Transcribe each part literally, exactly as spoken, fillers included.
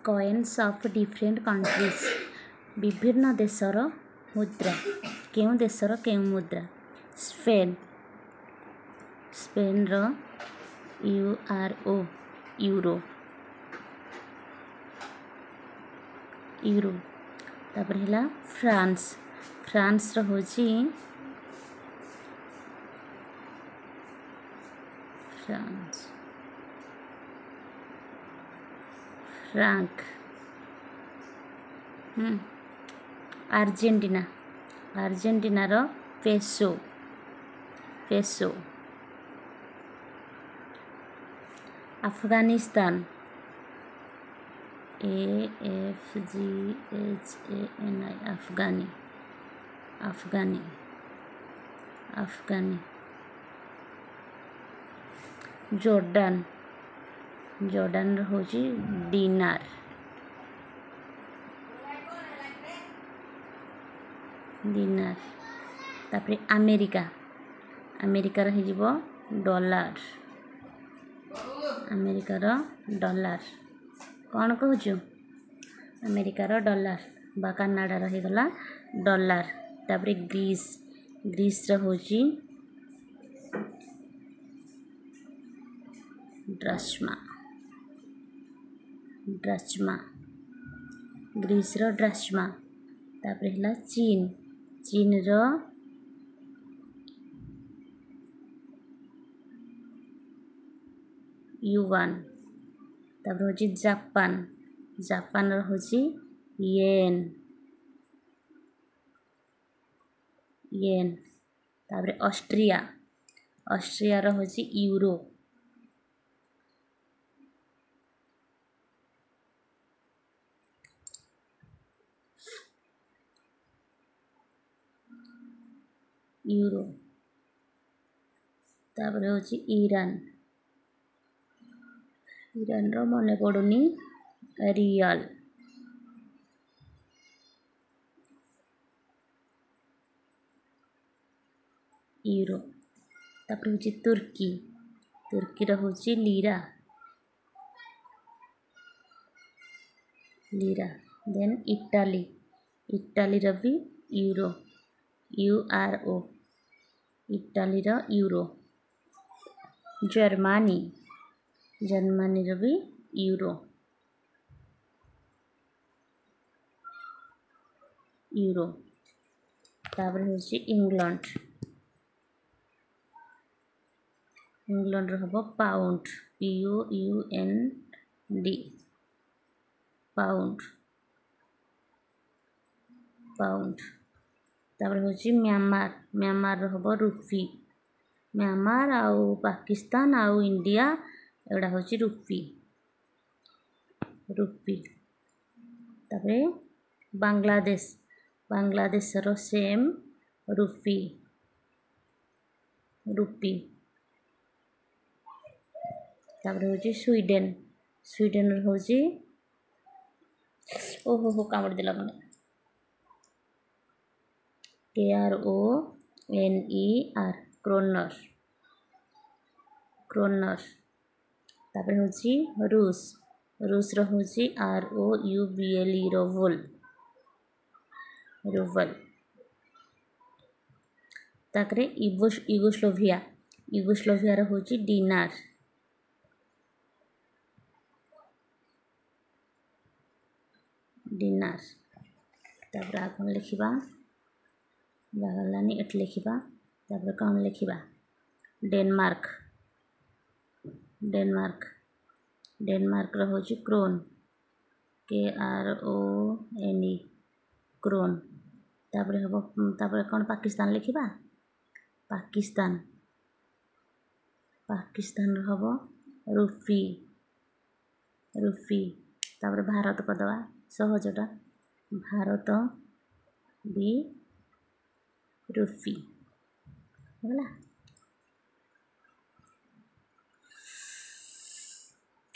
Coins of different countries, ବିଭିନ୍ନ ଦେଶର ମୁଦ୍ରା, କେଉଁ ଦେଶର କେଉଁ ମୁଦ୍ରା। ସ୍ପେନ୍, ସ୍ପେନ୍ର you R O, euro, euro. ତାପରେ ହେଲା ଫ୍ରାନ୍ସ, ଫ୍ରାନ୍ସର ହେଉଛି ଫ୍ରାନ୍ସ ଫ୍ରାଙ୍କ। ଆର୍ଜେଣ୍ଟିନା, ଆର୍ଜେଣ୍ଟିନାର peso, peso. Afghanistan, A F G H A N I, Afghani, Afghani, Afghani. Jordan, ଜର୍ଡାନର ହେଉଛି ଡିନାର, ଦିନାର। ତାପରେ ଆମେରିକା, ଆମେରିକାର ହେଇଯିବ ଡଲାର, ଆମେରିକାର ଡଲାର। କ'ଣ କହୁଛୁ? ଆମେରିକାର ଡଲାର ବା କାନାଡ଼ାର ହେଇଗଲା ଡଲାର। ତାପରେ ଗ୍ରୀସ୍, ଗ୍ରୀସ୍ର ହେଉଛି ଡ୍ରାସ୍ମା, ଡ୍ରାସ୍ମା, ଗ୍ରୀସ୍ର ଡ୍ରାସ୍ମା। ତାପରେ ହେଲା ଚୀନ, ଚୀନର ୟୁଆନ୍। ତାପରେ ହେଉଛି ଜାପାନ, ଜାପାନର ହେଉଛି ୟେନ୍, ୟେନ୍। ତାପରେ ଅଷ୍ଟ୍ରିଆ, ଅଷ୍ଟ୍ରିଆର ହେଉଛି ୟୁରୋ। ୟୁରୋ। ତାପରେ ହେଉଛି ଇରାନ, ଇରାନର ମନେ ପଡ଼ୁନି, ରିଆଲ। ୟୁରୋ। ତାପରେ ହେଉଛି ତୁର୍କୀ, ତୁର୍କୀର ହେଉଛି ଲିରା, ଲିରା। ଦେନ୍ ଇଟାଲୀ, ଇଟାଲୀର ବି ୟୁରୋ, you ଆର୍ ଓ, ଇଟାଲୀର ୟୁରୋ। ଜର୍ମାନୀ, ଜର୍ମାନୀର ବି ୟୁରୋ, ୟୁରୋ। ତାପରେ ହେଉଛି ଇଂଲଣ୍ଡ, ଇଂଲଣ୍ଡର ହେବ pound, P O U N D, pound, pound. ତାପରେ ହେଉଛି ମ୍ୟାମାର, ମ୍ୟାମାରର ହେବ ରୁପି। ମ୍ୟାମାର ଆଉ ପାକିସ୍ତାନ ଆଉ ଇଣ୍ଡିଆ, ଏଗୁଡ଼ା ହେଉଛି ରୁପି, ରୁପି। ତାପରେ ବାଂଲାଦେଶ, ବାଂଲାଦେଶର ସେମ୍ ରୁପି, ରୁପି। ତାପରେ ହେଉଛି ସ୍ୱିଡେନ, ସ୍ୱିଡେନର ହେଉଛି, ଓହୋ ହୋ କାମୁଡ଼ି ଦେଲା ମାନେ, କେ ଆର୍ ଓ ଏନ୍ ଇ ଆର୍, କ୍ରୋନର, କ୍ରୋନର। ତାପରେ ହେଉଛି ରୁଷ, ରୁଷର ହେଉଛି ଆର୍ ଓ you B L E, rouble, rouble. ତାପରେ ୟୁଗୋସ୍ଲୋଭିଆ, ୟୁଗୋସ୍ଲୋଭିଆର ହେଉଛି ଡିନାର, ଡିନାର। ତାପରେ ଆଉ କ'ଣ ଲେଖିବା? ଜାଗା ହେଲାନି, ଏଠି ଲେଖିବା। ତାପରେ କ'ଣ ଲେଖିବା? ଡେନମାର୍କ, ଡେନମାର୍କ, ଡେନମାର୍କର ହେଉଛି କ୍ରୋନ୍, କେ ଆର୍ ଓ ଏନ୍ ଇ, କ୍ରୋନ୍। ତାପରେ ହେବ, ତାପରେ କ'ଣ ପାକିସ୍ତାନ ଲେଖିବା? ପାକିସ୍ତାନ, ପାକିସ୍ତାନର ହେବ ରୁପି, ରୁପି। ତାପରେ ଭାରତ କରିଦେବା, ସହଜଟା, ଭାରତ ବି ରୁପି ହେଲା।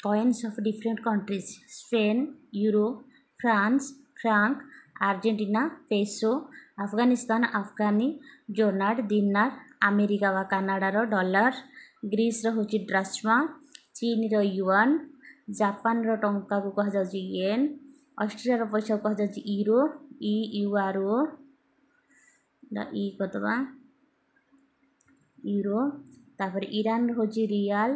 Coins of different countries: Spain euro, France franc, Argentina peso, Afghanistan Afghani, Jordan dinar, America ବା କାନାଡ଼ାର ଡଲାର, ଗ୍ରୀସର ହେଉଛି ଡ୍ରାସ୍ମା, ଚୀନର ୟୁଆନ୍, ଜାପାନର ଟଙ୍କାକୁ କୁହାଯାଉଛି ୟେନ୍। ଅଷ୍ଟ୍ରିଆର ପଇସାକୁ କୁହାଯାଉଛି ୟୁରୋ, ଇ you R ଓ, ଇ କରିଦେବା, ୟୁରୋ। ତାପରେ ଇରାନର ହେଉଛି ରିଆଲ,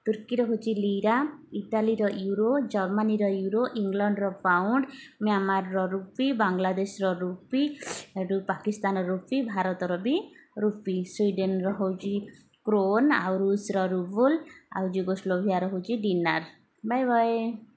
ତୁର୍କୀର ହେଉଛି ଲିରା, ଇଟାଲୀର ୟୁରୋ, ଜର୍ମାନୀର ୟୁରୋ, ଇଂଲଣ୍ଡର ପାଉଣ୍ଡ, ମ୍ୟାମାରର ରୁପି, ବାଂଲାଦେଶର ରୁପି, ଏଠୁ ପାକିସ୍ତାନର ରୁପି, ଭାରତର ବି ରୁପି। ସ୍ୱିଡେନର ହେଉଛି କ୍ରୋନ୍, ଆଉ ରୁଷର ରୁବୁଲ, ଆଉ ଯୁଗୋସ୍ଲୋଭିଆର ହେଉଛି ଡିନାର। Bye bye.